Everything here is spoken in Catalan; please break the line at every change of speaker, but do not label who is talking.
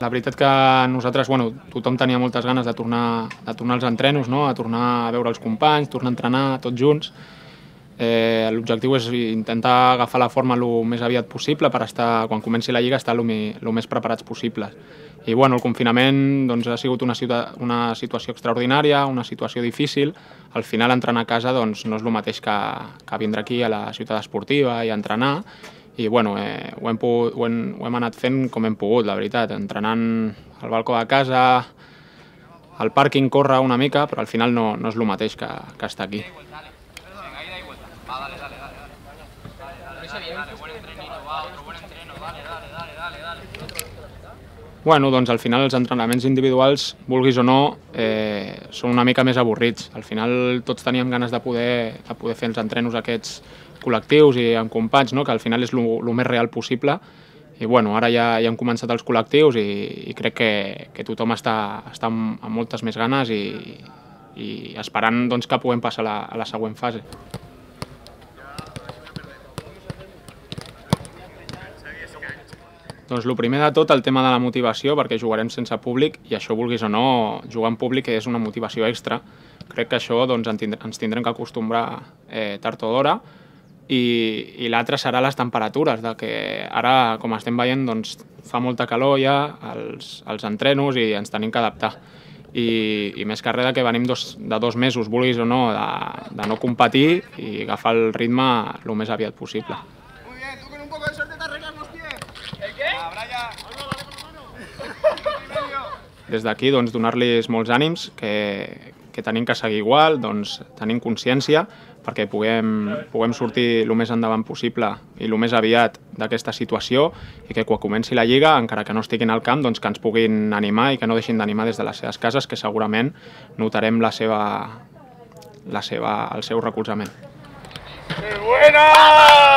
La veritat que nosaltres, tothom tenia moltes ganes de tornar als entrenos, no? A tornar a veure els companys, tornar a entrenar tots junts. L'objectiu és intentar agafar la forma el més aviat possible per estar, quan comenci la Lliga, estar el més preparats possibles. I el confinament ha sigut una situació extraordinària, una situació difícil. Al final entrenar a casa no és el mateix que vindre aquí a la ciutat esportiva i entrenar. I ho hem anat fent com hem pogut, la veritat, entrenant al balcó de casa, al pàrquing córrer una mica, però al final no és el mateix que estar aquí. Al final els entrenaments individuals, vulguis o no, són una mica més avorrits. Al final tots teníem ganes de poder fer els entrenos aquests col·lectius i amb companys, que al final és el més real possible. I ara ja han començat els col·lectius i crec que tothom està amb moltes més ganes i esperant que puguem passar a la següent fase. El primer de tot, el tema de la motivació, perquè jugarem sense públic i això, vulguis o no, jugar en públic és una motivació extra. Crec que això ens tindrem que acostumbrar tard o d'hora. I l'altre serà les temperatures, que ara, com estem veient, fa molta calor ja als entrenos i ens tenim que adaptar. I més que res que venim de 2 mesos, vulguis o no, de no competir i agafar el ritme el més aviat possible.
Muy bien, tú con un poco de suerte te arreglas los pies. ¿El qué?
Des d'aquí donar-los molts ànims, que tenim que seguir igual, tenim consciència perquè puguem sortir el més endavant possible i el més aviat d'aquesta situació i que quan comenci la Lliga, encara que no estiguin al camp, que ens puguin animar i que no deixin d'animar des de les seves cases, que segurament notarem el seu recolzament.
¡Buena!